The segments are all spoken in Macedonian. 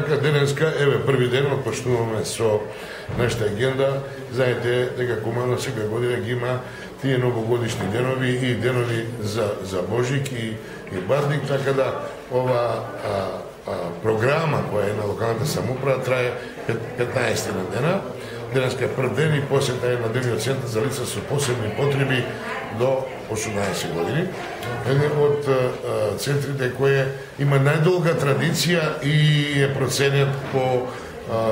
така денеска, еве први ден почнуваме со нашата агенда. Знаете дека команда секоја година ги има тие новогодишни денови и денови за Божик и Базник, така да ова програма која е на локалната самоуправа трае 15 дена. Денеска е прв ден и посета е на денниот центар за лица со посебни потреби до 18 години. Еден од центрите кој има најдолга традиција и е проценет по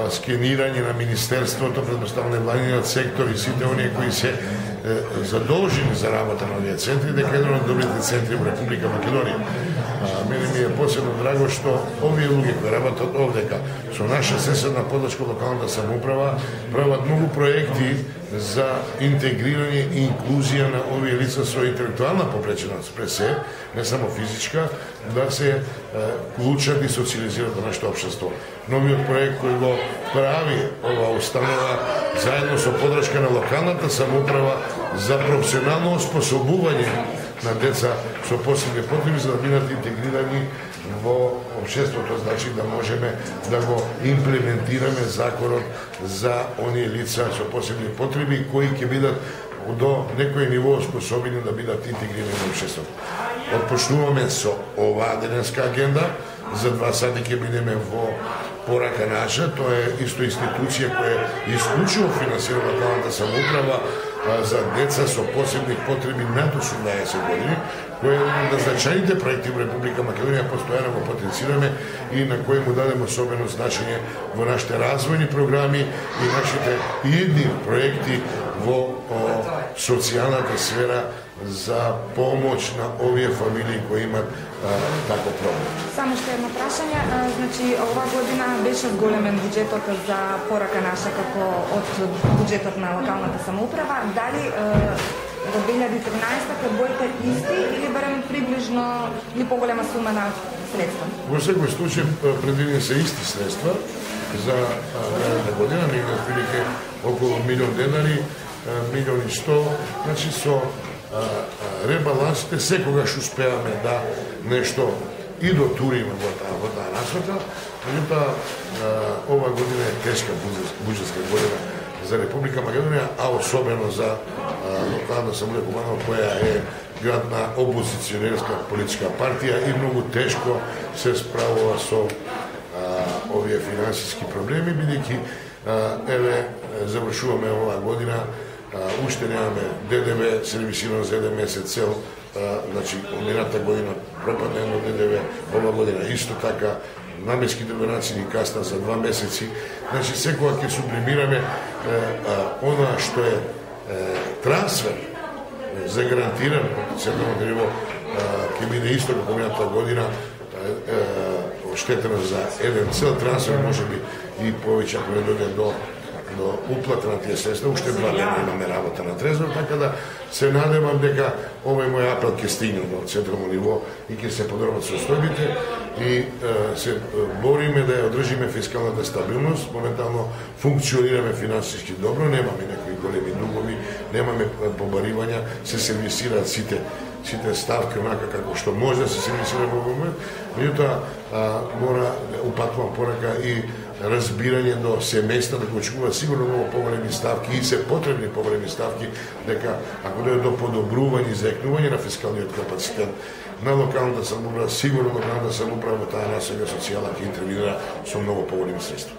скенирање на Министерството, предпоставено владиниот сектор и сите оние кои се задолжени за работа на овие центри, дека еден од добрите центри во Република Македонија. Мене ми е посебно драго што овие луѓе кои работат овдека со наша соседна подршка локалната самоуправа прават многу проекти за интегрирање и инклузија на овие лица со интелектуална попреченост, пред се, не само физичка, да се вклучат и социализират во нашето општество. Новиот проект кој го прави ова установа заедно со подршка на локалната самоуправа за професионално оспособување на деца со посебни потреби за да бидат интегрирани во општеството, значи да можеме да го имплементираме законот за оние лица со посебни потреби кои ќе бидат до некој ниво способни да бидат интегрирани во општеството. Отпочнуваме со оваа денеска агенда, за 2 сати ќе бидеме во Порака наша, тоа е исто институција која исклучиво финансира локалната самоуправа за деца со посебни потреби над 18 години, кој е еден од значајните проекти во Република Македонија, постојано го потенцираме и на кој му дадем особено значење во нашите развојни програми и нашите идни проекти во социјалната сфера за помош на овие фамилии кои имат таков проблем. Само што едно прашање, значи оваа година беше зголемен буџетот за Порака наша како од буџетот на локалната самоуправа. Дали во 2013 ќе боите исти или барем приближно или поголема сума на средства? Во секој случај предвидени се исти средства за наредната година, негде отприлike околу 1.000.000 денари, 1.100.000, значи со ребалансите секогаш успеаме да нешто и дотуриме во таа насока, меѓутоа ова година е тешка буџетска година за Република Македонија, а особено за локална самоуправа која е градна опозиционерска политичка партија и многу тешко се справува со овие финансиски проблеми, бидејќи еве завршуваме оваа година, уште немаме ДДВ сервисирано за 1 месец цел, значи мината година пропадна едно ДДВ, ова година исто така, наменските донации ни каснат за 2 месеци, значи секога ќе сублимираме она што е трансфер загарантиран од централното ниво, ќе биде исто како мината година, оштетено за еден цел трансфер, може би и повеќе ако не дојде до уплата на тие средства, уште 2 дена имаме работа на трезор, така да се надевам дека овој мој апел ќе стигне до централно ниво и ќе се подобрат состојбите и се бориме да ја одржиме фискалната стабилност, моментално функционираме финансиски добро, немаме некои големи дугови, немаме побаривања, се сервисираат сите ставки онака како што може да се сервисира во момент, меѓутоа мора упатувам порака и разбирање до семејства да го очекуваат сигурно многу поголеми ставки и се потребни поголеми ставки, дека ако дојде до подобрување и заекнување на фискалниот капацитет на локалната самоуправа, сигурно локалната самоуправа во таа насока социјала ќе интервенира со многу поголеми средства.